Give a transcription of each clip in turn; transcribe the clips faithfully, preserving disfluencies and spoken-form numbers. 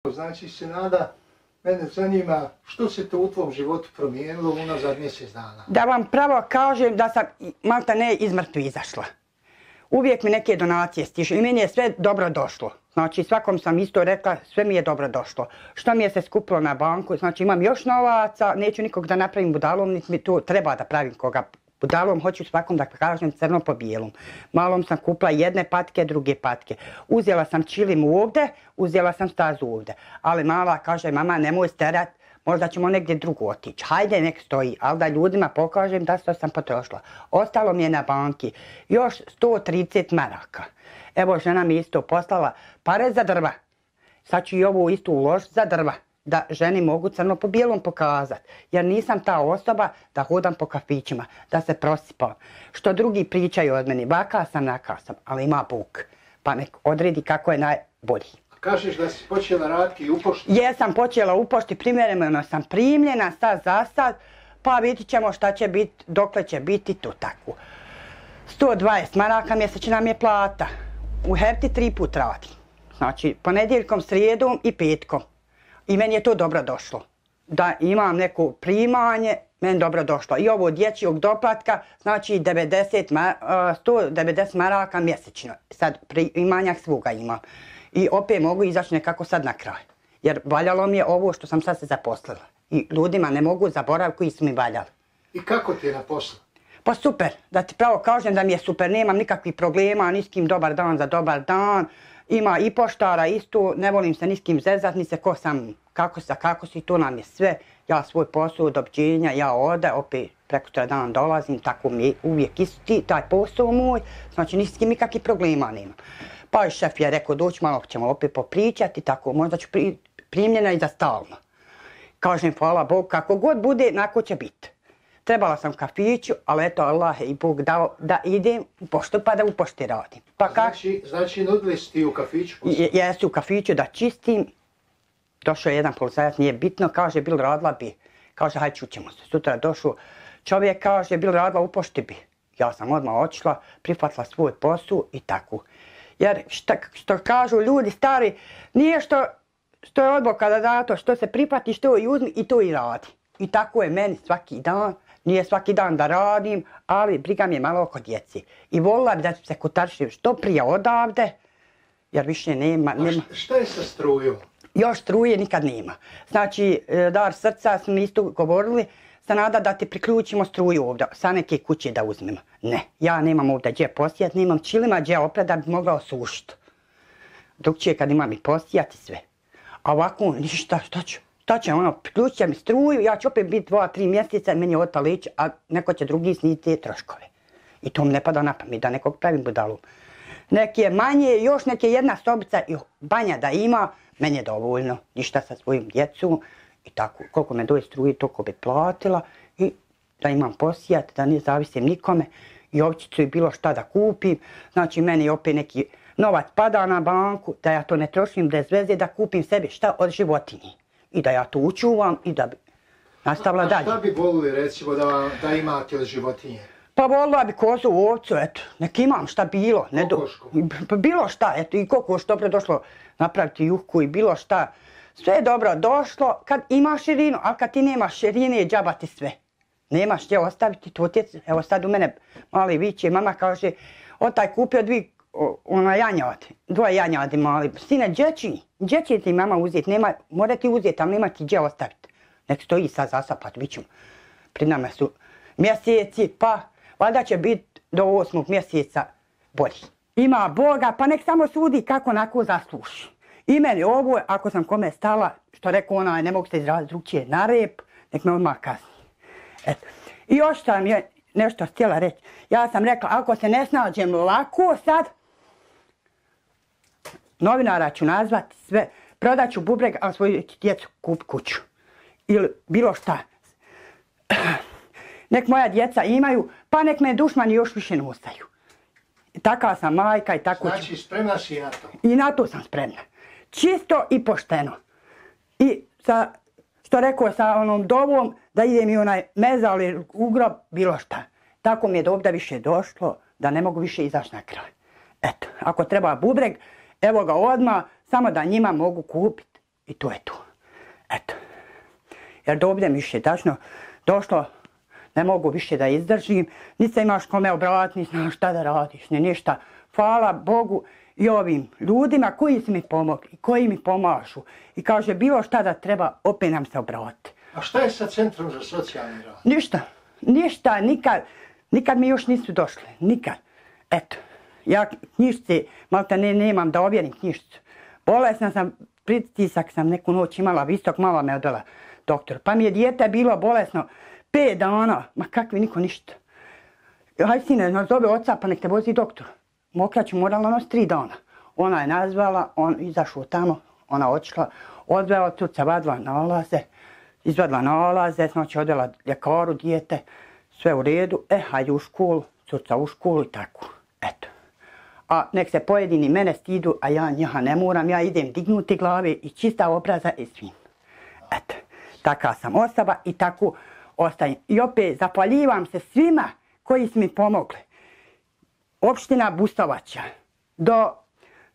Znači, Senada, mene zanima što se to u tvom životu promijenilo unazad mjesec dana? Da vam pravo kažem da sam malta ne iz mrtvi izašla. Uvijek mi neke donacije stižu i meni je sve dobro došlo. Znači svakom sam isto rekla, sve mi je dobro došlo. Što mi je se skupilo na banku, znači imam još novaca, neću nikog da napravim budalom, niti mi to treba da pravim koga budalom, hoću svakom da kažem crno po bijelom. Malom sam kupila jedne patke, druge patke. Uzela sam čilim ovdje, uzela sam stazu ovdje. Ali mala kaže, mama nemoj sterat, možda ćemo negdje drugo otići. Hajde nek stoji, ali da ljudima pokažem da što sam potrošila. Ostalo mi je na banki još sto trideset maraka. Evo žena mi isto poslala pare za drva. Sad ću i ovu istu uložiti za drva. Da ženi mogu crno po bijelom pokazati. Jer nisam ta osoba da hodam po kafićima, da se prosipam. Što drugi pričaju od meni, vaka sam, naka sam, ali ima Bog. Pa nek odredi kako je najbolji. Kažeš da si počela raditi i u pošti? Jesam počela u pošti, primjereno sam primljena, sad za sad, pa vidit ćemo šta će biti, dokle će biti to tako. sto dvadeset maraka mjesečna mi je plata. U Herti tri put radim. Znači, ponedjeljkom, srijedom i petkom. I meni je to dobro došlo. Da imam neko primanje, meni dobro došlo. I ovo dječjog doplatka, znači sto devedeset maraka mjesečno. Sad primanjak svoga imam. I opet mogu izaći nekako sad na kraj. Jer valjalo mi je ovo što sam sad se zaposlila. I ljudima ne mogu zaboraviti koji su mi valjali. I kako ti je na poslu? Pa super, da ti pravo kažem da mi je super, nemam nikakvih problema, ni s kim dobar dan za dobar dan. Ima i poštara isto, ne volim se ni s kim zezat, ni se ko sam, kako sa kako si, to nam je sve. Ja svoj posao od obđenja, ja ode, opet preko tre dan dolazim, tako mi je uvijek isti taj posao moj, znači ni s kim nikakvih problema nemam. Pa i šef je rekao doći, malo ćemo opet popričati, tako možda ću pri, primljena i za stalno. Kažem hvala Bogu, kako god bude, nako će biti. Trebala sam kafiću, ali eto Allah i Bog dao da idem u poštu pa da u pošti radim. Pa znači, znači nudili si ti u kafiću? Jesu u kafiću da čistim. Došao je jedan policajac, nije bitno, kaže bil radila bi. Kaže hajde čućemo se. Sutra došao čovjek, kaže bil radila u pošti bi. Ja sam odmah otišla, prihvatila svoj posao i tako. Jer šta, što kažu ljudi stari, nije što, što je odboka da dato, što se prihvati, što i uzmi i to i radi. I tako je meni svaki dan. Nije svaki dan da radim, ali briga mi je malo oko djeci. I volila bi da se kotaršim što prije odavde, jer više nema... nema. A šta je sa strujom? Još struje nikad nema. Znači, dar srca smo isto govorili, Senada da ti priključimo struju ovdje, sa neke kuće da uzmemo. Ne, ja nemam ovdje gdje posijat, nemam čilima gdje opred da bi mogla osušiti. Drugčije kad imam i posijati sve. A ovako ništa, šta ću? Šta će ono, priključit će mi struju, ja ću opet biti dva, tri mjeseca, meni je otpala ić, a neko će drugi sniti te troškove. I to mi ne pada na pamet, da nekog pravim budalom. Neki je manje, još neke jedna sobica i banja da ima, meni je dovoljno, ništa sa svojim djecom i tako. Koliko me doje struje, toliko bi platila i da imam posijat, da ne zavisim nikome i ovčicu i bilo šta da kupim. Znači meni opet neki novac pada na banku, da ja to ne trošim bez veze, da kupim sebi šta od životinji. I da ja to učuvam i da bi nastavila dalje. A šta bi volili recimo da, da imate od životinje? Pa volila bi kozu, ovcu, eto, nek imam šta bilo. Kokošku? Ne, bilo šta, eto, i kokoš dobro došlo napraviti juhku i bilo šta. Sve je dobro došlo kad ima širinu, ali kad ti nemaš širine, džaba ti sve. Nemaš gdje ostaviti tu otjec. Evo sad u mene mali viće, mama kaže, otaj kupio dvi ona janjad, dvoje janjadi mali. Sine, džeći, džeći ti mama uzeti, nema, mora ti uzeti, ali nema ti gdje ostaviti. Nek stoji sad zasapat, vidit ćemo. Pri nama su mjeseci, pa valjda će biti do osmog mjeseca bolji. Ima Boga, pa nek samo sudi kako onako zasluši. I meni ovo, ako sam kome stala, što rekao ona, ne mogu se izraziti drugčije, na rep, nek me odmah kazni. Eto. I još sam je nešto htjela reći. Ja sam rekla, ako se ne snađem lako sad, novinara ću nazvati sve, prodat ću bubreg, a svoju djecu kup kuću. Ili bilo šta. Nek moja djeca imaju, pa nek me dušmani još više nosaju. Takva sam majka i tako ću. Znači spremna si na to? I na to sam spremna. Čisto i pošteno. I sa, što rekao, sa onom dovom da ide mi onaj mezali u grob, bilo šta. Tako mi je do ovdje više došlo da ne mogu više izaći na kraj. Eto, ako treba bubreg, evo ga odmah, samo da njima mogu kupiti i to je to. Eto. Jer do ovdje mi više tačno došlo, ne mogu više da izdržim, niti se imaš kome obratiti, niti znaš šta da radiš, ni ništa. Hvala Bogu i ovim ljudima koji su mi pomogli, koji mi pomažu. I kaže, bilo šta da treba, opet nam se obratiti. A šta je sa Centrom za socijalni rad? Ništa, ništa, nikad, nikad mi još nisu došli, nikad. Eto, ja knjižice, malta ne, nemam da ovjerim knjižicu. Bolesna sam, pritisak sam neku noć imala, visok, mala me odvela doktor. Pa mi je dijete bilo bolesno pet dana, ma kakvi niko ništa. Hajde sine, nazove oca pa nek te vozi doktor. Mokraću morala nositi tri dana. Ona je nazvala, on izašao tamo, ona otišla, odvela tuca, vadila nalaze, izvadila nalaze, znači odvela ljekaru, dijete, sve u redu, e, hajde u školu, cuca u školu i tako, eto. A nek se pojedini mene stidu, a ja njiha ne moram, ja idem dignuti glave i čista obraza i svim. Eto, taka sam osoba i tako ostajem. I opet zahvaljivam se svima koji su mi pomogli. Opština Bustovača, do,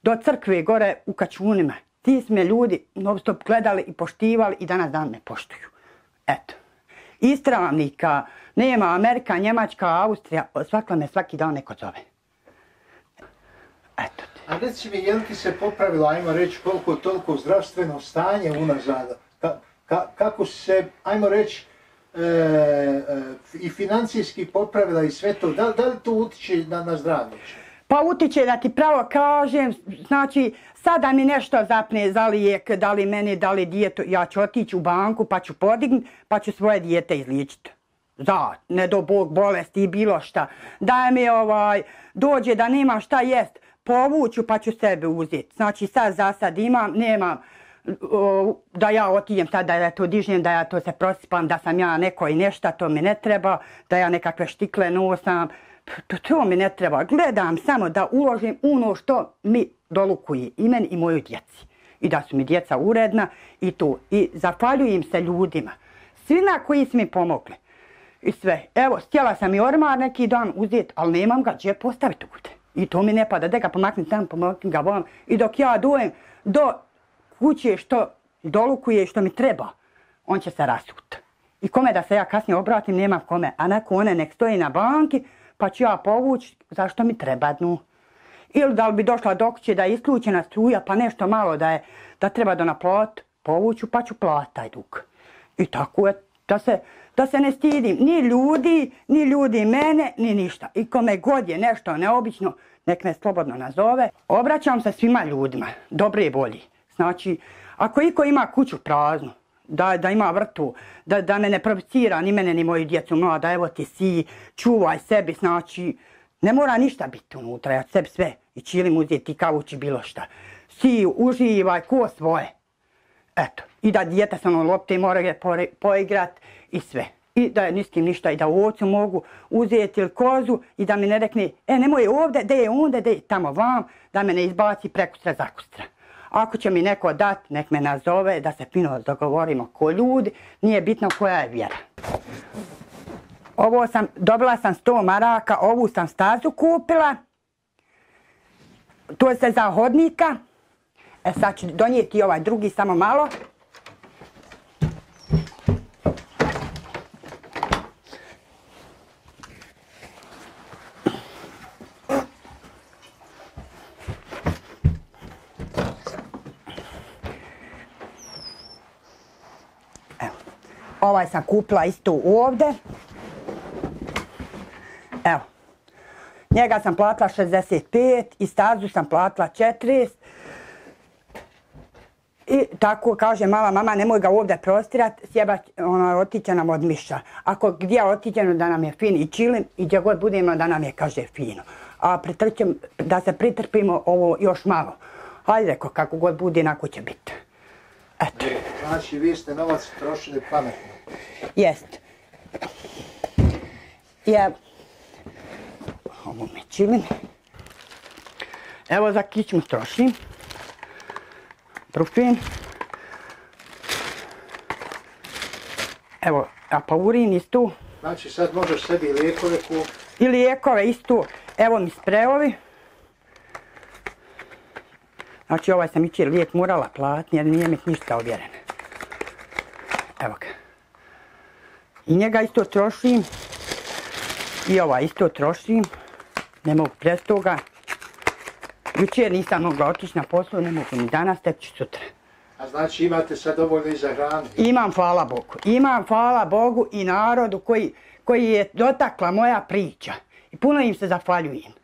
do crkve gore u Kačunima. Ti su me ljudi non stop gledali i poštivali i danas dan me poštuju. Eto. Istravnika, nema Amerika, Njemačka, Austrija, svakla me svaki dan neko zove. Eto. A reci mi, je li ti se popravilo, ajmo reći, koliko toliko zdravstveno stanje unazad? Ka, ka, kako se, ajmo reći, e, e, i financijski popravila i sve to? Da, da li to utiče na, na zdravlje? Pa utiče da ti pravo kažem, znači sada mi nešto zapne za lijek, da li meni, da li dijetu, ja ću otići u banku pa ću podignuti, pa ću svoje dijete izliječiti. Za, ne do Bog bolesti i bilo šta. Da mi ovaj, dođe da nemam šta jest, povuću pa ću sebe uzeti. Znači sad za sad imam, nemam o, da ja otijem sad da ja to dižem, da ja to se prosipam, da sam ja neko i nešta, to mi ne treba, da ja nekakve štikle nosam. To, to mi ne treba. Gledam samo da uložim ono što mi dolukuje i meni i moju djeci. I da su mi djeca uredna i to. I zahvaljujem se ljudima. Svima koji su mi pomogli. I sve. Evo, htjela sam i ormar neki dan uzeti, ali nemam ga gdje postaviti ovdje. I to mi ne pada. Da ga pomaknem tam, pomaknem ga vam. I dok ja dojem do kuće što dolukuje, što mi treba, on će se rasuti. I kome da se ja kasnije obratim, nemam kome. A neko one nek stoji na banki, pa ću ja povući zašto mi treba dnu. Ili da li bi došla do kuće da je isključena struja, pa nešto malo da je, da treba da naplati, povuću pa ću plati taj dug. I tako je, da se, da se ne stidim ni ljudi, ni ljudi mene, ni ništa. I kome god je nešto neobično, nek me slobodno nazove. Obraćam se svima ljudima, dobre volji. Znači, ako iko ima kuću praznu, Da, da ima vrtu, da, da me ne provocira ni mene ni moju djecu mlada, evo ti si, čuvaj sebi, znači ne mora ništa biti unutra, ja sebi sve i čilim uzeti kavući bilo šta. Si, uživaj, ko svoje. Eto, i da djeta sa onom lopte mora poigrat i sve. I da ni s kim ništa, i da ovcu mogu uzeti ili kozu i da mi ne rekne, e nemoj ovdje, de je onda, de je tamo vam, da me ne izbaci prekustra zakustra. Ako će mi neko dati, nek me nazove, da se fino dogovorimo ko ljudi, nije bitno koja je vjera. Ovo sam, dobila sam sto maraka, ovu sam stazu kupila. To je za hodnika. E sad ću donijeti ovaj drugi samo malo. Ovaj sam kupila isto ovdje. Evo. Njega sam platila šezdeset pet i stazu sam platila četrdeset. I tako kaže mala mama, nemoj ga ovdje prostirat, sjeba ono, otiće nam od miša. Ako gdje otićemo da nam je fin i čilim i gdje god budemo da nam je, kaže, fino. A pritrčem, da se pritrpimo ovo još malo. Hajde reko, kako god bude, inako će biti. Eto. Znači, vi ste novac trošili pametno. Jest. Ja, ovo me čilim. Evo za kičmu trošim. Brufin. Evo, apaurin isto. Znači, sad možeš sebi lijekove kupiti. I lijekove isto. Evo mi sprejovi. Znači ovaj sam jučer lijek morala platiti jer nije mi ništa ovjereno. Evo ga. I njega isto trošim. I ovaj isto trošim. Ne mogu prez toga. Jučer nisam mogla otići na poslu, ne mogu ni danas, tek ću sutra. A znači imate sad dovoljno i za hranu? Imam, hvala Bogu. Imam, hvala Bogu i narodu koji, koji je dotakla moja priča. I puno im se zahvaljujem.